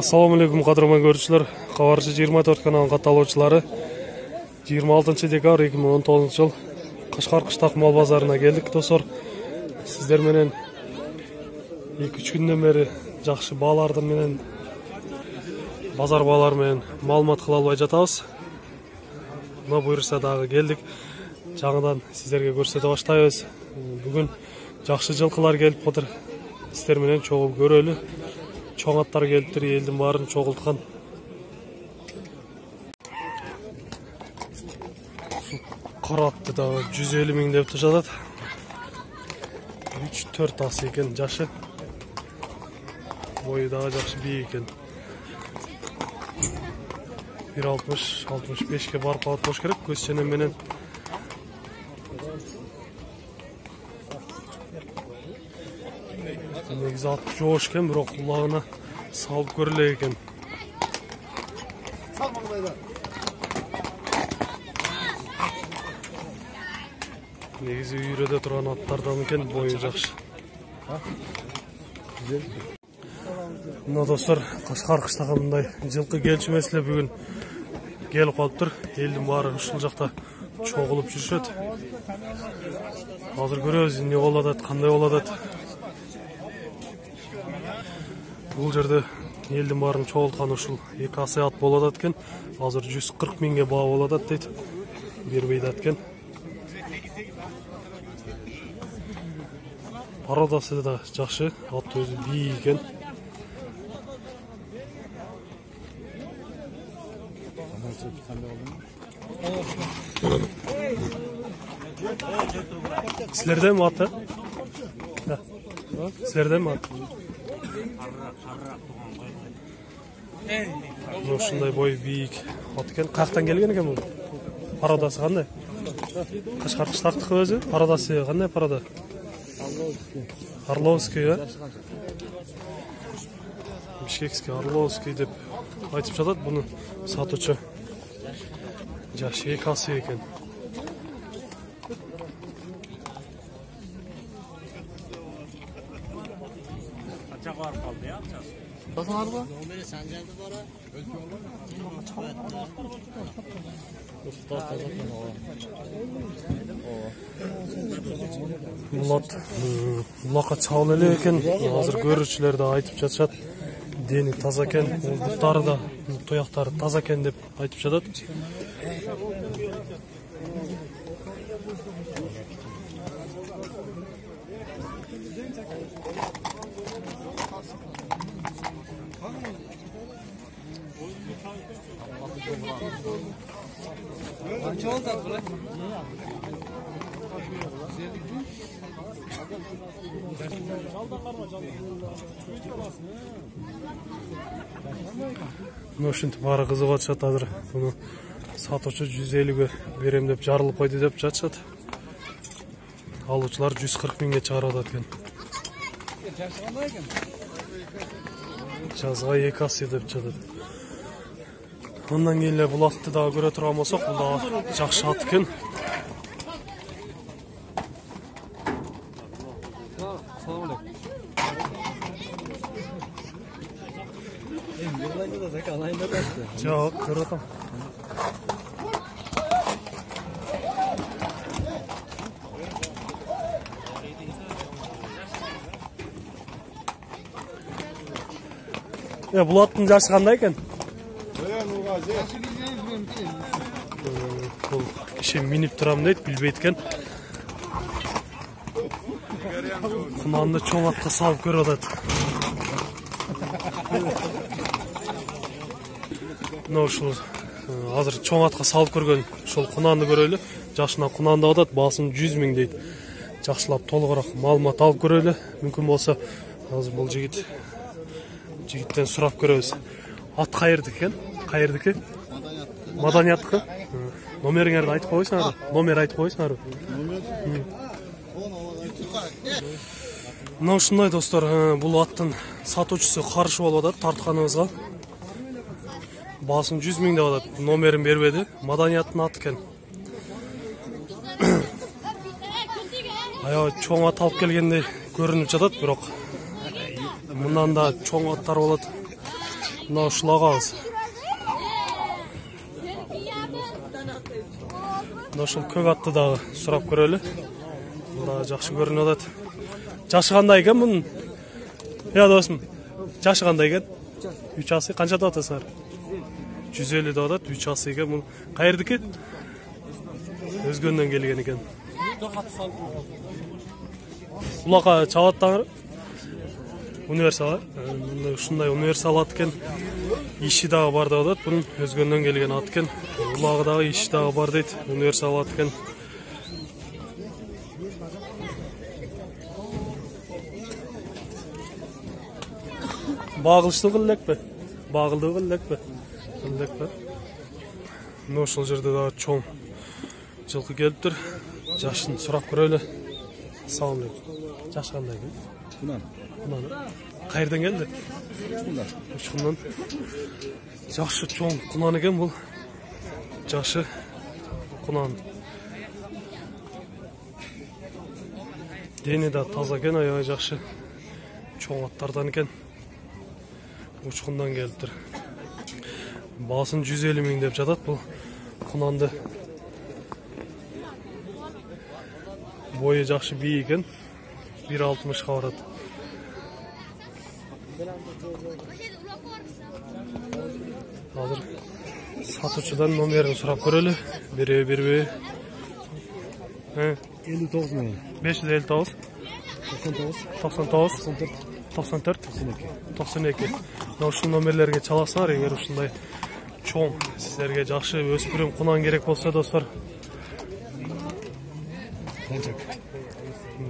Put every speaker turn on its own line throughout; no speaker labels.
Assalomu alaykum qadrman ko'ruvchilar. Xabarchi 24 kanalının kataloqchilari 26 dekabr 2019 yıl Qashqar qishtaq mol bozoruna keldik dostlar. Sizler menen 2-3 günden beri жақсы бааларды менен базар баалары менен маалымат кыла албай жатабыз. Мына буйрса дагы келдик. Жаңыдан сиздерге көрсөтө баштайбыз. Бүгүн жақсы жылкылар келип отур. Сиздер менен чогуу көрөлү. Чоң аттар келиптир, элдин баарын чогулткан. Кара атты дагы 150 миң деп жатат. 3-4 асы экен, жашы. Boyu daha жақсы бий екен. 1.60-65 барып алып бош керек. Көз ченем менен. Негизи ат жоош экен, бирок кулагына салып көрөлө экен. Негизи үйрөдө турган аттардан экен, бою жакшы. Мына достор, Qashqar кыштагы мындай жылкы келчү эле бүгүн келип калыптыр. Элдин баары ушул жакта чогулуп жүрүшөт. Азыр көрөбүз эмне болуп атат, кандай болуп атат. Бул жерде элдин баарын чогулткан ушул эки асы ат болуп атат экен. Азыр 140 миңге баа болуп атат дейт. Бербей да экен. Пародасы да жакшы, ат өзү бий экен. Sizlerden mi atı? Sizlerden mi atı? Şunday boy büyük at eken. Qaqtan kelgen eken bu? Parodası qanday? Qashqar qishtaqtiki özü? Parodası qanday paroda? Орловский, ya? Bishkekskiy, Орловский deb aytib жатат bunu satuvchi. Жашы эки асы экен. Ачак барып калды, я, ачак. Басыңар ба? Номери Санжарды бара. Булакка чабыл эле экен. Азыр көрүүчүлөр да айтып жатышат. Дени таза экен, буттары да, туяктары таза экен деп айтып жатат. Ушинтип баары кызыгып атышат азыр. Буну сатуучу 150ге берем деп жарылып койду деп жатышат. Алуучулар 140 миңге чыгарып атат экен. Жазга эки асы деп жатат. Ondan keyin эле бул атты дагы көрө турган болсок, бул дагы жакшы ат экен. Жок, көрүп атам. Бул аттын жашы кандай экен? Бул киши минип турам дейт, билбейт экен. Кунанды чоң атка салып көрүп атат. Мына ушул азыр чоң атка салып көргөн ушул кунанды көрөлү. Жашына кунанды атат, баасын 100 миң дейт. Жакшылап толугураак маалымат алып көрөлү. Мүмкүн болсо азыр бул жигиттен сурап көрөбүз. Ат кайердики экен? Кайердики? Маданияттыкы? Номериңерди айтып койсуңарбы? Номер айтып койсуңарбы? Мына ушундай достор, бул аттын сатуучусу каршы болуп атат тартканыбызга. Баасын 100 миң деп атат. Номерин бербеди. Маданияттын аты экен. Аял чоң ат алып келгендей көрүнүп жатат, бирок мындан да чоң аттар болот. Мына ушул агабыз. Мына ушул көк атты дагы сурап көрөлү. Мында жакшы көрүнүп атат. Жашы кандай экен мунун? Я досум, жашы кандай экен? 3 асы канча деп атасыңар? 150 деп атат, 3 асы экен. Бул каердики? Өзгөндөн келген экен. Улака чабаттаңыр. Универсал. Ушундай универсал ат экен. Иши дагы бар деп атат. Бунун Өзгөндөн келген ат экен. Улагы дагы иши дагы бар дейт. Универсал ат экен. Багылышты кыллекпи? Багылды кыллекпи? Кыллекпи? Мына ошол жерде дагы чоң жылкы келиптир. Жашын сурап көрөлү. Ассалам алейкум. Жаш кандай экен? Кунан. Каерден келди? Учкундан. Жакшы чоң кунан экен бул. Жашы кунан. Дени да таза экен, аябай жакшы. Чоң аттардан экен. Учкундан келиптир. Баасын 150 миң деп жатат бул кунанды. Бою жакшы бий экен. 1.60 барат. Азыр сатуучудан номерин сурап көрөлү. Бербейби?
59 миң.
559 99 94 92. Ушул номерлерге чаласыңар, эгер ушундай чоң сиздерге жакшы өспүрүм кунан керек болсо достор.
Танчак.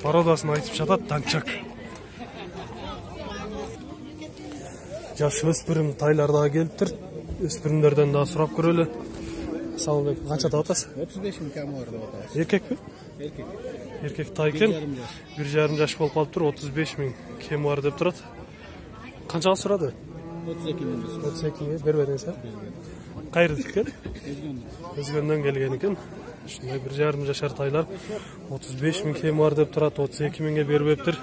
Породасын айтып жатат, танчак. Жаш өспүрүм тайлар дагы келиптир. Өспүрүмдөрдөн дагы сурап көрөлү. Ассалам алейкум. Канча деп атасыз?
35 миң кам бар деп атабыз.
Эркекпи?
Эркек.
Эркек тай экен. 1,5 жаш болуп калыптыр. 35 миң кем бар деп турат. Канчага сурады?
32 миң.
32 миң бербедиңиз, а? Кайрдык экен? Өзгөндөн келген экен. Ушундай 1,5 жашар тайлар 35 миң кем бар деп турат. 32 миңге бербептир.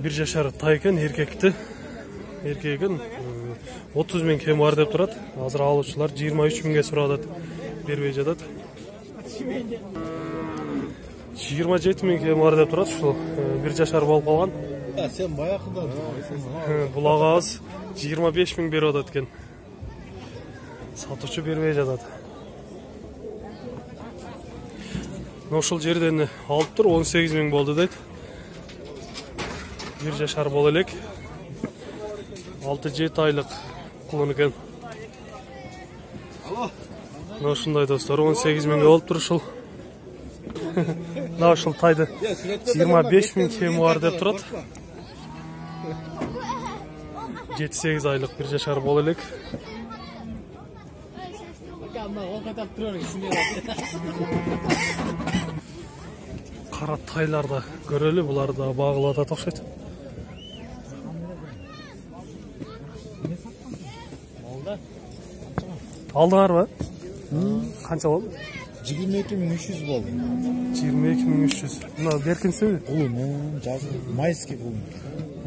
1 жашар тай экен, эркекти. Эркек экен 30 миң кем бар деп турат. Азыр алуучулар 23 миңге сурап атат. Бербей жатат. 27 миң кем бар деп турат. Ушул 1 жашар болуп калган.
Сен баягыдан.
Бул агабыз 25 миң берип атат экен. Сатуучу бербей жатат. Ошол жерден алыптыр, 18 миң болду дейт. 1 жашар боло элек. 6-7 айлык кулун экен. Ошондой достор, 18 миңге болуптур ушул. Мына ушул тайды 25 миң кеми бар деп турат. 7-8 айлык 1 жашар боло элек. Кара тайларды көрөлү, булар да багылып атат окшойт. Алдыңарбы? Канча болду?
22.300 болду.
22.300. Мына беркинсиби?
Кулун, жазы майский кулун.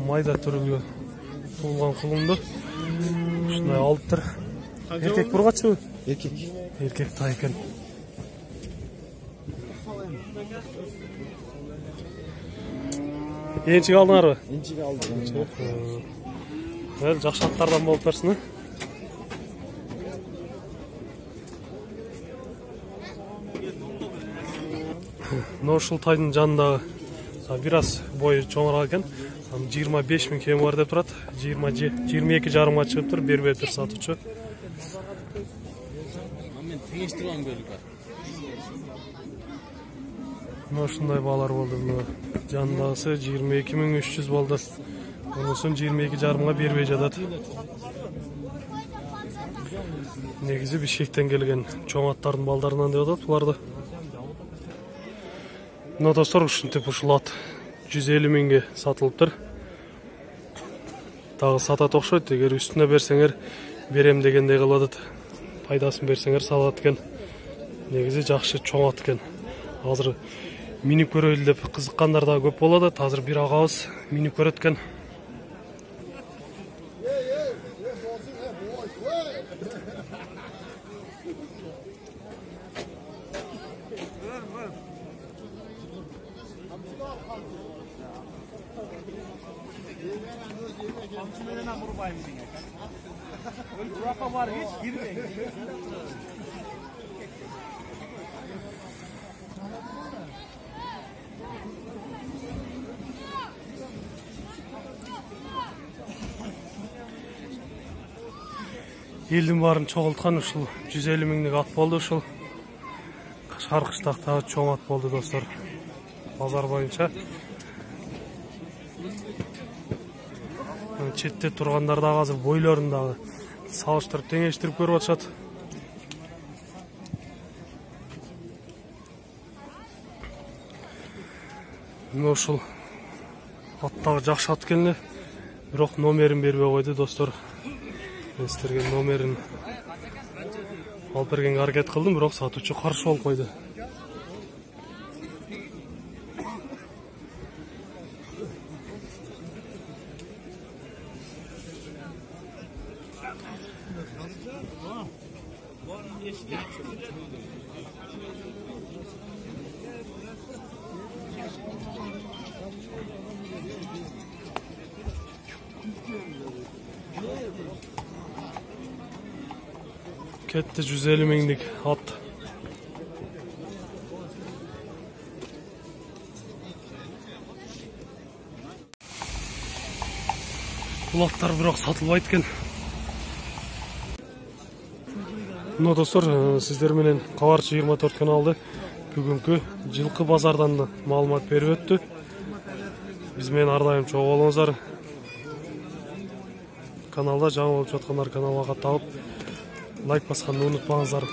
Майда түрүлгө туулган кулунду ушундай алыптыр. Эркек бургачыбы?
Эркек.
Эркек тай экен. Энчик алдыңарбы?
Энчик алдым.
Жакшы аттардан болуп берсин. Мына ушул тайдын жанында бир аз бою чоңураак экен. 25 миң кем бар деп турат. 22,5 чыгыптыр, бербептир сатуучу.
Мен теңештирган бөлүк бар.
Мына ушундай баалар болду. Мына жандасы 22.300 болду. Онусун 22,5 бербей жатат. Негизи Бишкектен келген чоң аттардын балдарынан деп атат буларды. Мына достор, ушинтип ушул ат 150 миңге сатылыптыр. Дагы сатат окшойт. Эгер үстүнө берсеңер берем дегендей кылып атат. Пайдасын берсеңер салат экен. Негизи жакшы чоң ат экен. Азыр минип көрөлү деп кызыккандар да көп болот. Азыр бир агабыз минип көрөт экен. Элдин баарын чогулткан ушул 150 миңдик ат болду. Ушул Кашкар кыштактагы чоң ат болду достор. Базар боюнча. Четте тургандар дагы азыр бойлорун дагы салыштырып теңештирип көрүп атышат. Ушул аттагы жакшы ат келе, бирок номерин бербей койду достор. Мен силерге номерин алып бергенге аракет кылдым, бирок сатуучу каршы болуп койду. Кетти 150 миңдик ат. Бул аттар бирок сатылбайт экен. Мына достор, сиздер менен Кабарчы 24 каналды бүгүнкү жылкы базардан да маалымат берип өттү. Биз менен ар дайым чогуу болуңуздар. Каналда жаңы болуп жаткандар каналга катталып лайк басканды унутпаңыздар.